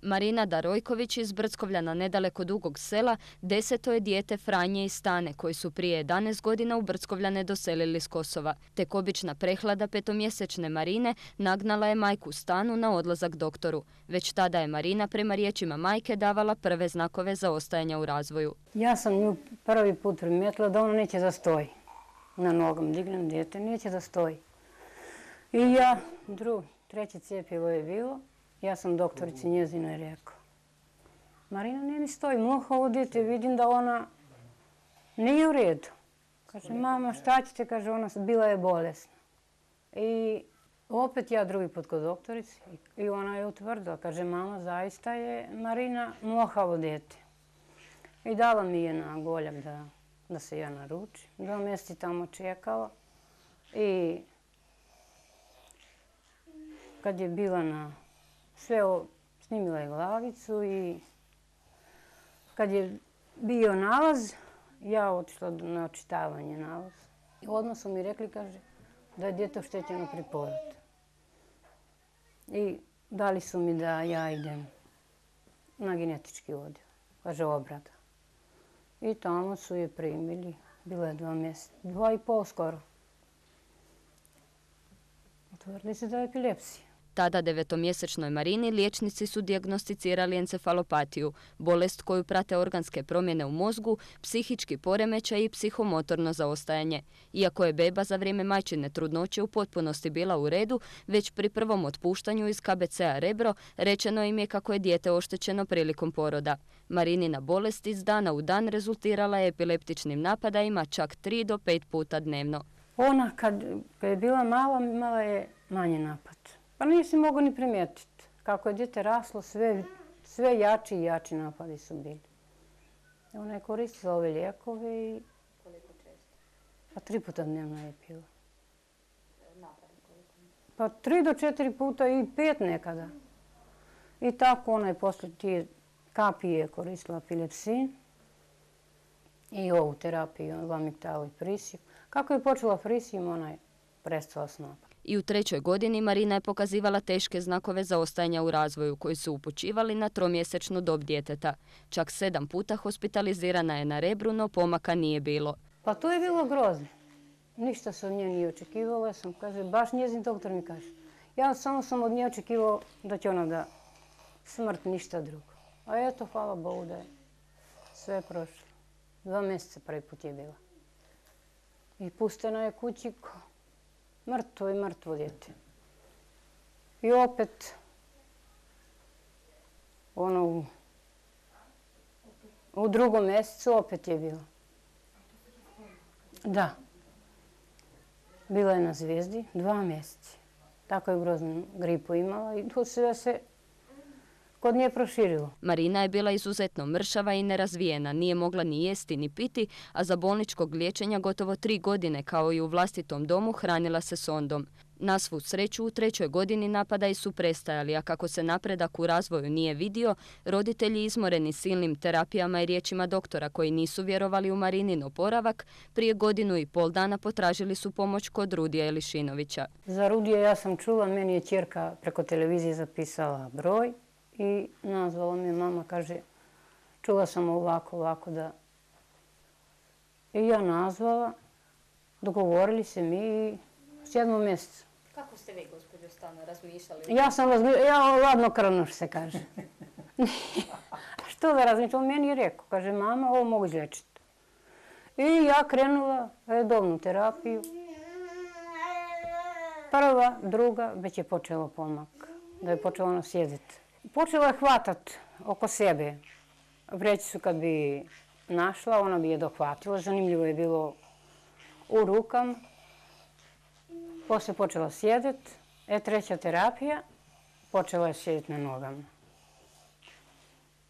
Marina Darojković iz Brckovljana nedaleko Dugog Sela 10. je dijete Franje i Stane koji su prije 11 godina u Brckovljane doselili s Kosova. Tek obična prehlada petomjesečne Marine nagnala je majku Stanu na odlazak doktoru. Već tada je Marina prema riječima majke davala prve znakove zaostajanja u razvoju. Ja sam nju prvi put primijetila da ona neće da stoji. Na nogama dignem dijete, neće da stoji. I ja, treće cjepivo je bilo. Ja sam doktorici njezinoj rekao, Marina ne mi stoji, muha ovo dijete, vidim da ona nije u redu. Kaže, mama šta ćete, kaže, ona bila je bolesna. I opet ja drugi put kod doktorici i ona je utvrdila, kaže, mama zaista je Marina mohavo dijete. I dala mi je na goljak da se ja naručim. 2 mjeseca tamo čekala i kad je bila sve snimila je glavicu i kad je bio nalaz, ja otišla na očitavanje nalaza. I odmah su mi rekli, kaže, da je dijete oštećeno pri porodu. I dali su mi da ja idem na genetički odjel, kaže obrada. I tamo su je primili, bilo je 2 mjeseca, 2,5 skoro. Utvrdili se da je epilepsija. Tada 9-mjesečnoj Marini liječnici su dijagnosticirali encefalopatiju, bolest koju prate organske promjene u mozgu, psihički poremećaj i psihomotorno zaostajanje. Iako je beba za vrijeme majčine trudnoće u potpunosti bila u redu, već pri prvom otpuštanju iz KBC-a Rebro rečeno im je kako je dijete oštećeno prilikom poroda. Marinina bolest iz dana u dan rezultirala je epileptičnim napadajima čak 3 do 5 puta dnevno. Ona kad je bila mala, imala je manji napad. Pa nisi mogao ni primijetiti. Kako je dijete raslo, sve jači i jači napadi su bili. Ona je koristila ove lijekove i... Koliko često? Pa 3 puta dnevno je pila. Napade koliko? Pa 3 do 4 puta i 5 nekada. I tako ona je posle tije kapije koristila epilepsin i ovu terapiju, lamiktalu i prisiju. Kako je počela prisijom, ona je prestala s napadom. I u 3. godini Marina je pokazivala teške znakove zaostajanja u razvoju koji su upućivali na 3-mjesečnu dob djeteta. Čak 7 puta hospitalizirana je na Rebru, no pomaka nije bilo. Pa to je bilo grozno. Ništa se od nje nije očekivalo. Ja sam, kaže, baš njezin doktor mi kaže. Ja samo sam od nje očekivao da će ona da smrt, ništa drugo. A eto, hvala Bogu da je sve prošlo. 2 mjeseca prvi put je bila. I pustena je kući mrtvo dijete. I opet, ono, u 2. mjesecu opet je bilo. Da. Bila je na Zvijezdi 2 mjeseca. Tako je groznu gripu imala i to sve se kod nje proširilo. Marina je bila izuzetno mršava i nerazvijena, nije mogla ni jesti ni piti, a za bolničkog liječenja gotovo 3 godine, kao i u vlastitom domu, hranila se sondom. Na svu sreću u 3. godini napadaji su prestajali, a kako se napredak u razvoju nije vidio, roditelji izmoreni silnim terapijama i riječima doktora koji nisu vjerovali u Marinin oporavak, prije 1,5 godina potražili su pomoć kod Rudija Elišinovića. Za Rudija ja sam čula, meni je ćerka preko televizije zapisala broj i nazvala me mama, kaže, čula sam ovako da... I ja nazvala, dogovorili se mi i 7. mjesecu. Kako ste vi, gospođo Stano, razmišljali? Ja sam ladnokrvno se kaže. Što da razmišljam? On meni je rekao, kaže, mama, ovo mogu izlječiti. I ja krenula redovnu terapiju. Prva, druga, već je počelo pomak, da je počela ona sjediti. Počela je hvatat oko sebe. Vrećicu kad bi našla, ona bi je dohvatila. Zanimljivo je bilo u rukama. Poslije počela sjediti. 3. terapija, počela je sjediti na nogama.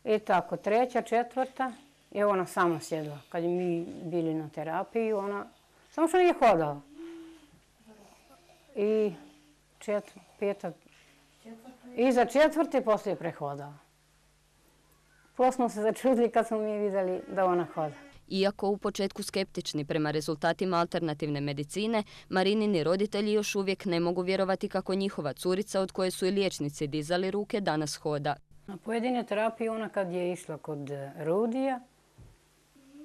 I tako, 3., 4. i ona sama sjedila. Kad je mi bili na terapiji, ona samo što nije hodala. I 5. I za 4. poslije je prehodala. Poslije smo se začudili kad smo mi vidjeli da ona hoda. Iako u početku skeptični prema rezultatima alternativne medicine, Marinini roditelji još uvijek ne mogu vjerovati kako njihova curica, od koje su i liječnici dizali ruke, danas hoda. Na pojedine terapije ona kad je išla kod Rudija,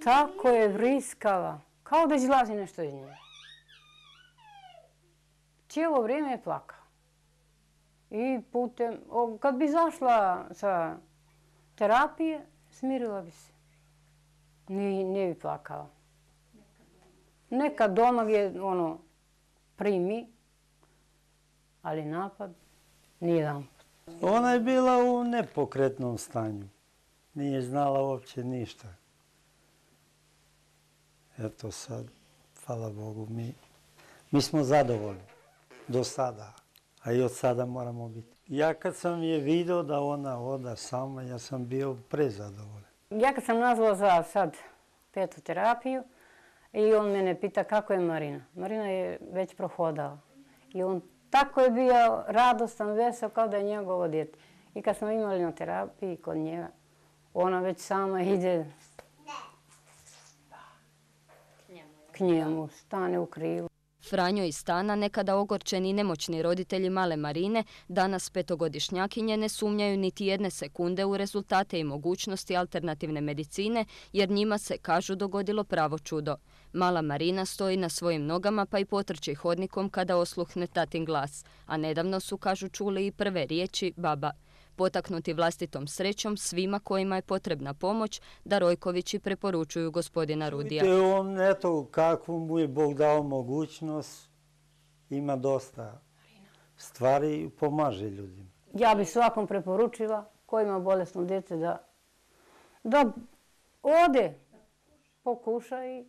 tako je vriskala, kao da izlazi nešto iz nje. Cijelo vrijeme je plakala. I kad bi zašla sa terapije, smirila bi se. Ne bi plakala. Nekad doma je primi, ali napad nijedan. Ona je bila u nepokretnom stanju. Nije znala uopće ništa. Eto sad, hvala Bogu, mi smo zadovoljni do sada, a i od sada moramo biti. Ja kad sam je vidio da ona oda sama, ja sam bio prezadovoljan. Ja kad sam nazvala za sad 5. terapiju i on mene pita kako je Marina. Marina je već prohodala. I on tako je bio radostan, vesel kao da je njegovo dijete. I kad smo imali na terapiji kod njega, ona već sama ide k njemu, stane u krilu. Franjo i Stana, nekada ogorčeni i nemoćni roditelji male Marine, danas 5-godišnjakinje ne sumnjaju niti jedne sekunde u rezultate i mogućnosti alternativne medicine, jer njima se, kažu, dogodilo pravo čudo. Mala Marina stoji na svojim nogama pa i potrči hodnikom kada osluhne tatin glas, a nedavno su, kažu, čuli i prve riječi baba. Potaknuti vlastitom srećom, svima kojima je potrebna pomoć, Darojkovići preporučuju gospodina Rudija. Vidite, on, eto, kakvu mu je Bog dao mogućnost, ima dosta stvari i pomaže ljudima. Ja bi svakom preporučila koji ima bolesno dijete da ode, pokuša i